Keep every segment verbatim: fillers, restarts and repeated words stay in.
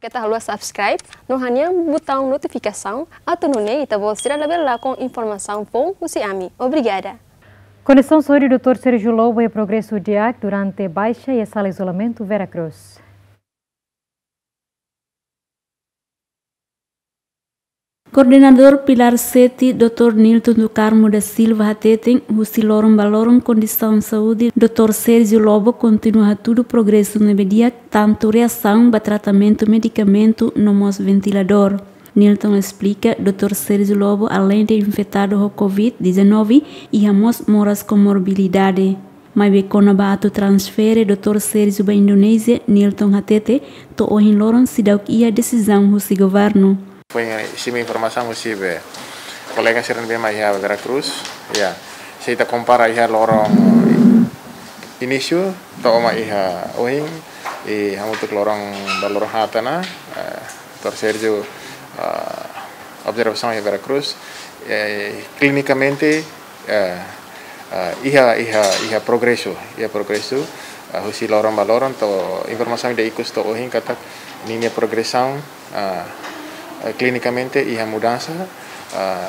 Keta haluha subscribe no hanehan butaun notifikasaun, atu nune'e ita-boot sira labele lakon informasaun foun husi ami. Obrigada. Kondisaun saúde doutór Sérgio Lobo iha progresu di'ak durante baixa iha sala izolamentu Vera Cruz. Koordenadór Pilar sete, doutór Nilton do Carmo da Silva hateten, husi loron ba loron kondisaun saúde doutór Sérgio Lobo kontinua hatudu progresu ne'ebé di'ak, tantu reasaun ba tratamentu medikamentu no mós ventiladór. Nilton esplika, doutór Sérgio Lobo, aleinde infetadu ho covid dezanove, iha mós moras komorbilidade. Maibé kona-ba atu transfere doutór Sérgio ba Indonézia, Nilton hatete, to'o ohin loron seidauk iha desizaun husi governu. Foin, eh, simu informasaun husi be kolega sira ne'ebé mak iha Vera Cruz, ya. Se ita kompara iha loron inísiu to'o mak iha ohin, i hamutuk loron ba loron haat ona, eh, doutór Sérgio, eh, observasaun iha Vera Cruz, eh, klinikamente, eh, eh, iha, iha, iha progresu, iha progresu, eh, husi loron ba loron, to'o informasaun ida ikus to'o ohin katak ninia progresaun, eh, eh, klinikamente iha mudansa, eh,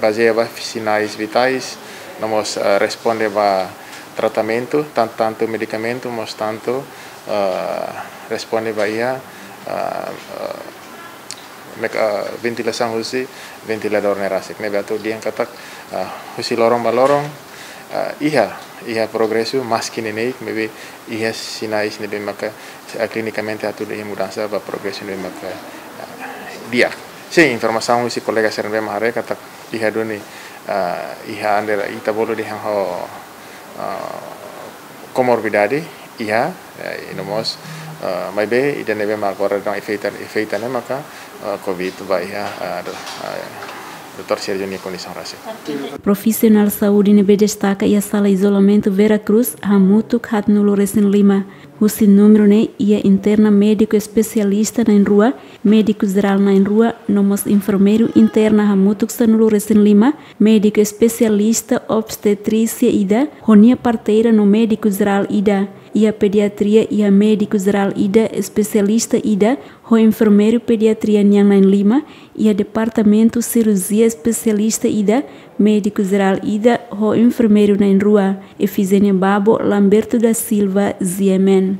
bazeia ba sinais vitais, no mós, eh, responde ba tratamentu, tan-, tantu medikamentu, mós tantu, eh, responde ba iha, eh, eh, mek-, eh, ventilasaun husi ventiladór ne'e rasik. Ne'ebé atu dehan katak, eh, husi loron ba loron, eh, iha, iha progresu, maski neineik, maibé iha sinais ne'ebé maka, eh, klinikamente hatudu iha mudansa ba progresu ne'ebé maka, eh, di'ak. Sin, informasaun husi kolega sira ne'ebé mak haree katak iha duni, eh, iha ande ita bolu dehan ho, eh, komorbidade, iha, eh, i no mós, eh, maibé ida ne'ebé mak agora daudaun enfeita, enfeita ne'e maka, eh, covid ba iha, eh, do-, eh, doutór Sérgio nia kondisaun rasik. Profisionál saúde ne'ebé destaka iha sala izolamentu Vera Cruz hamutuk haatnulu-resin-lima. Husi númeru ne'e iha interna médiku espesialista na'in-rua, médiku jerál na'in-rua, no mós enfermeiru interna hamutuk sanulu-resin-lima, médiku espesialista obstetrísia ida, ho nia parteira no médiku jerál ida. Iha pediatria iha médiku jerál ida, espesialista ida, ho enfermeiru pediatria nian na'in-lima, iha departamentu sirurjia espesialista ida, médiku jerál ida, ho enfermeiru na'in-rua. Efizénia Babo, Lamberto da Silva, G M N.